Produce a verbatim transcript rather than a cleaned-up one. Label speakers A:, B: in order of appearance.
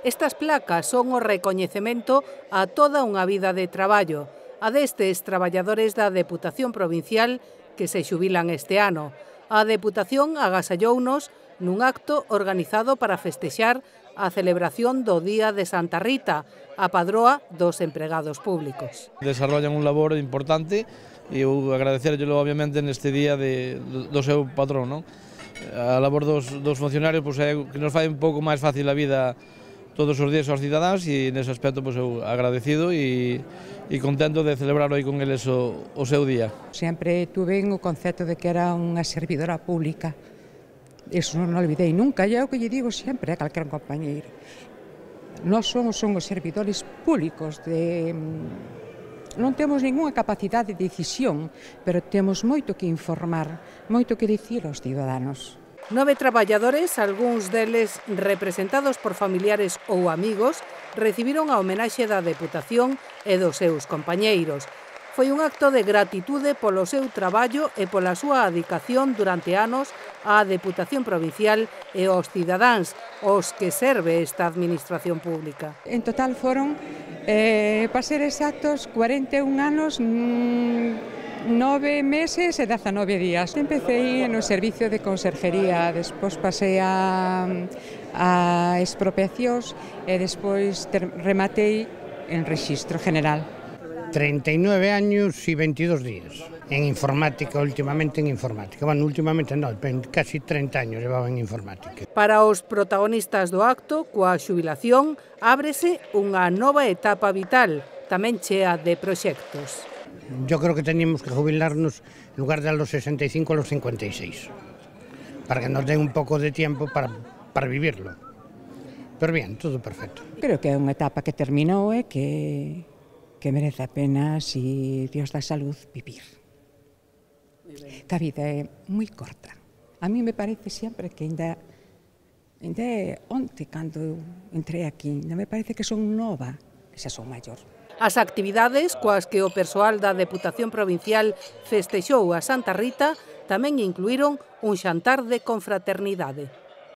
A: Estas placas son o recoñecemento a toda unha vida de traballo, a destes traballadores da Deputación Provincial que se xubilan este ano. A Deputación agasallounos nun acto organizado para festexar a celebración do Día de Santa Rita, a padroa dos empregados públicos.
B: Desarrollan un labor importante e eu agradecerllelo obviamente neste día de, do seu patrón, non? A labor dos, dos funcionarios pois, é que nos fai un pouco máis fácil a vida todos os días aos cidadáns e nese aspecto pois, eu agradecido e, e contento de celebrar hoy con eles o, o seu día.
C: Sempre tuve o concepto de que era unha servidora pública. Eso non olvidei nunca, e é o que lle digo sempre a calquer compañeiro. Nós somos, somos servidores públicos, de, non temos ningunha capacidade de decisión, pero temos moito que informar, moito que dicir aos ciudadanos.
A: Nove traballadores, algúns deles representados por familiares ou amigos, recibiron a homenaxe da Deputación e dos seus compañeiros. Foi un acto de gratitude polo seu traballo e pola súa adicación durante anos á Deputación Provincial e aos cidadáns, os que serve esta administración pública.
C: En total foron, eh, para ser exactos, cuarenta e un anos, mmm, nove meses e dezanove días. Empecé no servicio de conserjería, despois pasei a, a expropiacións e despois ter, rematei en rexistro general.
D: treinta y nueve años y veintidós días en informática, últimamente en informática. Bueno, últimamente no, casi treinta años llevaba en informática.
A: Para os protagonistas do acto, coa xubilación, ábrese unha nova etapa vital, tamén chea de proxectos.
D: Yo creo que teníamos que jubilarnos en lugar de a los sesenta y cinco a los cincuenta y seis, para que nos den un poco de tiempo para, para vivirlo. Pero bien, todo perfecto.
C: Creo que é unha etapa que terminou e que que merece a pena, si Dios da salud, vivir. Que a vida é moi corta. A mí me parece sempre que ainda, ainda é onte cando entrei aquí, ainda me parece que son nova, que xa son maior.
A: As actividades coas que o persoal da Deputación Provincial festexou a Santa Rita tamén incluíron un xantar de confraternidade.